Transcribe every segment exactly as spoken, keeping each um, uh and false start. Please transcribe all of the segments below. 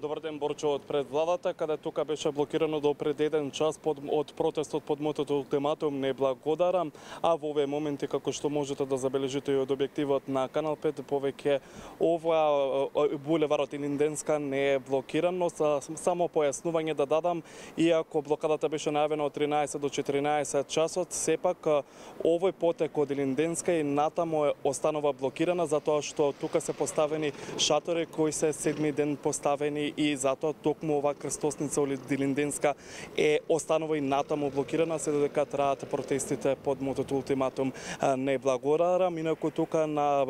Добар ден, Борчо, од пред владата, каде тука беше блокирано до пред еден час под, од протестот под мотото ултиматум не благодарам, а во овие моменти, како што можете да забележите и од објективот на Канал пет, повеќе ова булеварот Илинденска не е блокиран, но само појаснување да дадам, иако блокадата беше најавена од тринаесет до четиринаесет часот, сепак овој потек од Илинденска и натаму останува блокирана, затоа што тука се поставени шатори кои се седми ден поставени и затоа токму оваа крстосница од Илинденска е останува и натаму блокирана, се додека траат протестите под мотото ултиматум не благодарам. Инаку тука на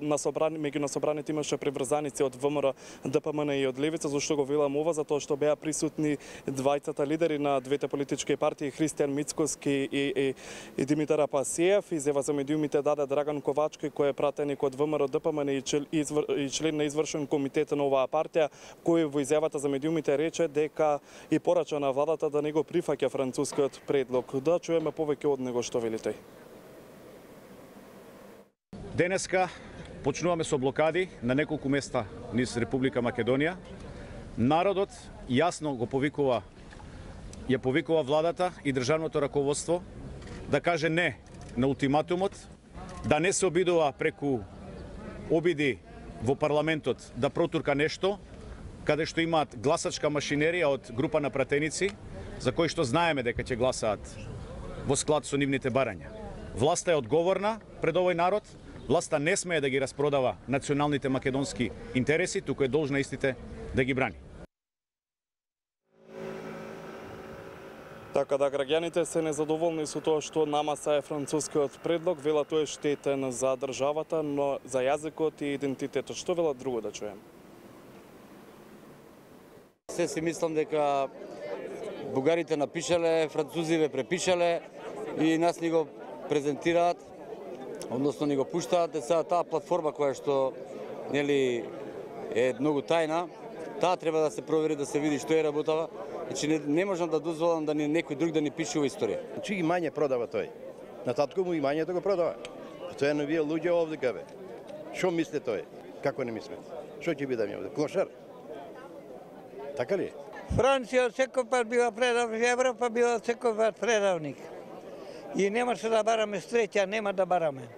на собрани меѓу на собраните имаше приврзаници од ВМРО, ДПМН и од Левица, зашто го велам ова, затоа што беа присутни двајцата лидери на двете политички партии, Христијан Мицкоски и, и, и Димитар Апасиев. Изјава за медиумите даде Драган Ковачки, кој е пратеник од ВМРО, ДПМН и, чел, и, извр, и член на извршен комитет на оваа партија, кој во изјавата за медиумите рече дека и порача на владата да не го прифаќа францускиот предлог. Да чуеме повеќе од него што вели тој. Денеска почнуваме со блокади на неколку места низ Република Македонија. Народот јасно го повикува, ја повикува владата и државното раководство да каже не на ултиматумот, да не се обидува преку обиди во парламентот да протурка нешто, каде што имаат гласачка машинерија од група на пратеници, за кои што знаеме дека ќе гласаат во склад со нивните барања. Власта е одговорна пред овој народ, власта не смее да ги распродава националните македонски интереси, туку е должна истите да ги брани. Така да граѓаните се незадоволни со тоа што намаса е францускиот предлог, велат тој е штетен за државата, но за јазикот и идентитетот. Што велат друго да чуем? Се си мислам дека бугарите напишале, французиве препишале и нас ни го презентираат, односно ни го пуштаат. Сега таа платформа која што нели е многу тајна, таа треба да се провери, да се види што е работава. Значи не, не можам да дозволам да ни некој друг да ни пишува историја. Чи ги мање продава тој? На татко му и мање да го продава. Тоа е на вие луѓе овде кабе. Што мисле тој? Како не мисле? Што ќе биде ми овде? Клошар? Така ли? Франција секој пат била предавник, Европа била секој пат предавник. И немаше да бараме среќа, нема да бараме.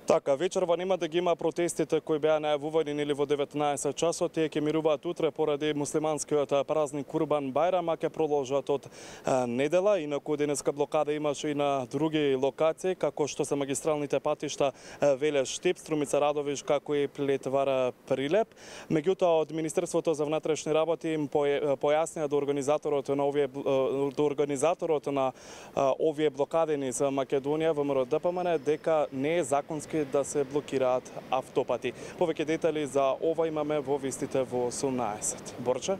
Така, вечерва нема да ги има протестите кои беа најавувани нели во деветнаесет часот, тие ќе мируваат утре поради муслиманскиот празник Курбан Бајрам, а ќе продолжат од недела. Инаку денеска блокада имаше и на други локации, како што се магистралните патишта Велеш Штип, Струмица Радовиш, како и Плетвара Прилеп. Меѓутоа од Министерството за внатрешни работи им појаснија до организаторот на овие до организаторот на овие блокади низ Македонија, ВМРО ДПМН, дека не е законски да се блокираат автопати. Повеќе детали за ова имаме во вестите во осумнаесет. Борче?